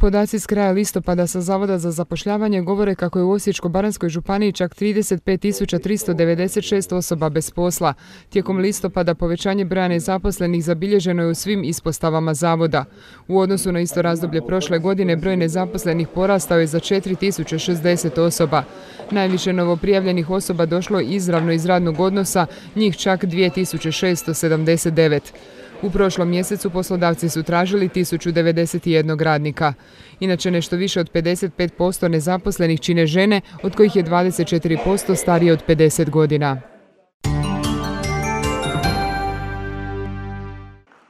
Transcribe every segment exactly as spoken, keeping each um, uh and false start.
Podaci s kraja listopada sa Zavoda za zapošljavanje govore kako je u Osječko-baranjskoj županiji čak trideset pet tisuća tristo devedeset šest osoba bez posla. Tijekom listopada povećanje broja nezaposlenih zabilježeno je u svim ispostavama zavoda. U odnosu na isto razdoblje prošle godine broj nezaposlenih porastao je za četiri tisuće šezdeset osoba. Najviše novoprijavljenih osoba došlo izravno iz radnog odnosa, njih čak dvije tisuće šesto sedamdeset devet. U prošlom mjesecu poslodavci su tražili tisuću devedeset jedan radnika. Inače, nešto više od pedeset pet posto nezaposlenih čine žene, od kojih je dvadeset četiri posto starije od pedeset godina.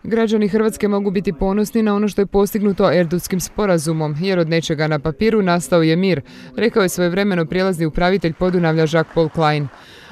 Građani Hrvatske mogu biti ponosni na ono što je postignuto Erdutskim sporazumom, jer od nečega na papiru nastao je mir, rekao je svojevremeno prijelazni upravitelj Podunavlja Jacques-Paul Klein.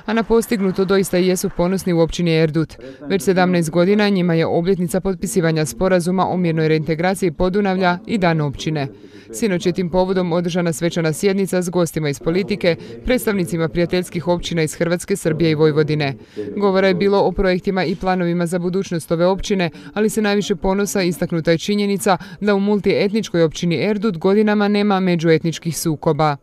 A na postignuto doista i jesu ponosni u općini Erdut. Već sedamnaest godina njima je obljetnica potpisivanja sporazuma o mirnoj reintegraciji Podunavlja i dan općine. Sinoć je tim povodom održana svečana sjednica s gostima iz politike, predstavnicima prijateljskih općina iz Hrvatske, Srbije i Vojvodine. Govora je bilo o projektima i planovima za budućnost ove općine, ali se najviše ponosa istaknuta je činjenica da u multietničkoj općini Erdut godinama nema međuetničkih sukoba.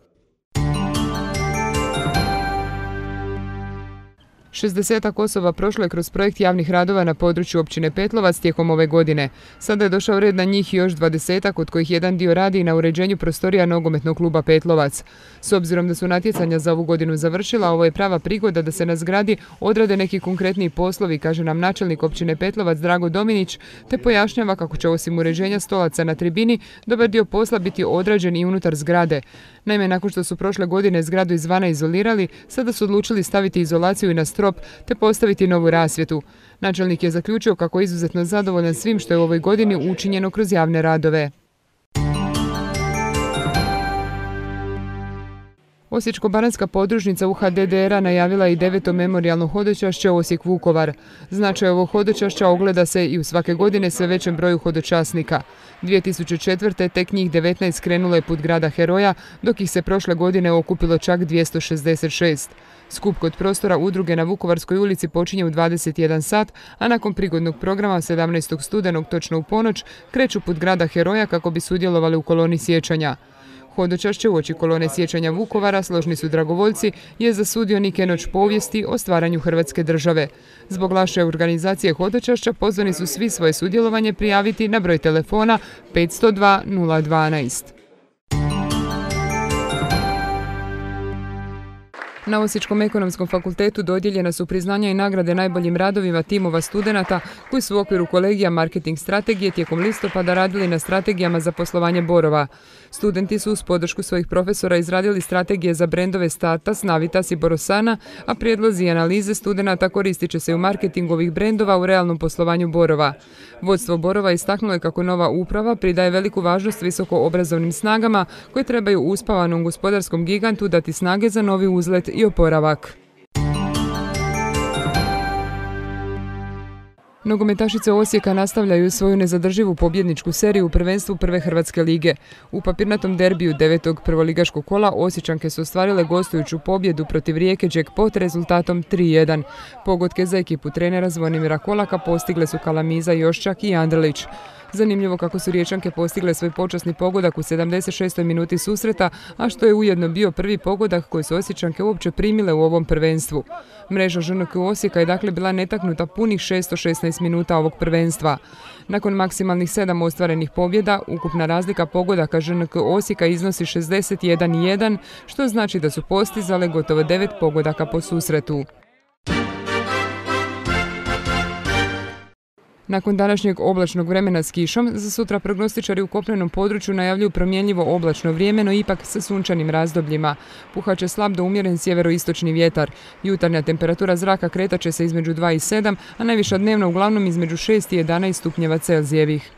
šezdesetak osoba prošlo je kroz projekt javnih radova na području općine Petlovac tijekom ove godine. Sada je došao red na njih još dvadesetak, od kojih jedan dio radi na uređenju prostorija nogometnog kluba Petlovac. S obzirom da su natjecanja za ovu godinu završila, ovo je prava prigoda da se na zgradi odrade neki konkretniji poslovi, kaže nam načelnik općine Petlovac Drago Dominić, te pojašnjava kako će osim uređenja stolaca na tribini dobar dio posla biti odrađen i unutar zgrade. Naime, nakon što su prošle godine zgradu izvana izolirali, sada su odlučili staviti izolaciju i na strop te postaviti novu rasvjetu. Načelnik je zaključio kako je izuzetno zadovoljan svim što je u ovoj godini učinjeno kroz javne radove. Osječko-baranjska podružnica U H D D R-a najavila i deveto memorijalno hodočašće Osijek-Vukovar. Značaj ovog hodočašća ogleda se i u svake godine sve većem broju hodočasnika. dvije tisuće četvrte. tek njih devetnaest krenulo je put grada heroja, dok ih se prošle godine okupilo čak dvjesto šezdeset šest. Skup kod prostora udruge na Vukovarskoj ulici počinje u dvadeset jedan sat, a nakon prigodnog programa sedamnaestog studenog točno u ponoć kreću put grada heroja kako bi sudjelovali u koloni sjećanja. Hodočašće uoči kolone sjećanja Vukovara, složni su dragovoljci, je za sudionike noć povijesti o stvaranju Hrvatske države. Zbog loše organizacije hodočašća pozvani su svi svoje sudjelovanje prijaviti na broj telefona petsto dva nula dvanaest. Na Osječkom ekonomskom fakultetu dodijeljena su priznanja i nagrade najboljim radovima timova studenata koji su u okviru kolegija marketing strategije tijekom listopada radili na strategijama za poslovanje Borova. Studenti su uz podršku svojih profesora izradili strategije za brendove Statas, Navitas i Borosana, a prijedlozi i analize studenata koristit će se u marketingu ovih brendova u realnom poslovanju Borova. Vodstvo Borova istaknulo je kako nova uprava pridaje veliku važnost visoko obrazovnim snagama koje trebaju uspavanom gospodarskom gigantu dati snage za novi uzlet i oporavak. Nogometašice Osijeka nastavljaju svoju nezadrživu pobjedničku seriju u prvenstvu Prve Hrvatske lige. U papirnatom derbiju devetog prvoligaškog kola Osječanke su ostvarile gostujuću pobjedu protiv Rijeke Jackpot rezultatom tri jedan. Pogodke za ekipu trenera Zvonimira Kolaka postigle su Kalamiza, Joščak i Andrlić. Zanimljivo kako su Riječanke postigle svoj počasni pogodak u sedamdeset šestoj minuti susreta, a što je ujedno bio prvi pogodak koji su Osječanke uopće primile u ovom prvenstvu. Mreža Ž N K Osijeka je dakle bila netaknuta punih šesto šesnaest minuta ovog prvenstva. Nakon maksimalnih sedam ostvarenih pobjeda, ukupna razlika pogodaka Ž N K Osijeka iznosi šezdeset jedan jedan, što znači da su postizale gotovo devet pogodaka po susretu. Nakon današnjeg oblačnog vremena s kišom, za sutra prognostičari u kopnenom području najavljuju promjenljivo oblačno vrijeme, no ipak sa sunčanim razdobljima. Puhat će slab do umjeren sjeveroistočni vjetar. Jutarnja temperatura zraka kretat će se između dva i sedam, a najviša dnevno uglavnom između šest i jedanaest stupnjeva Celzijevih.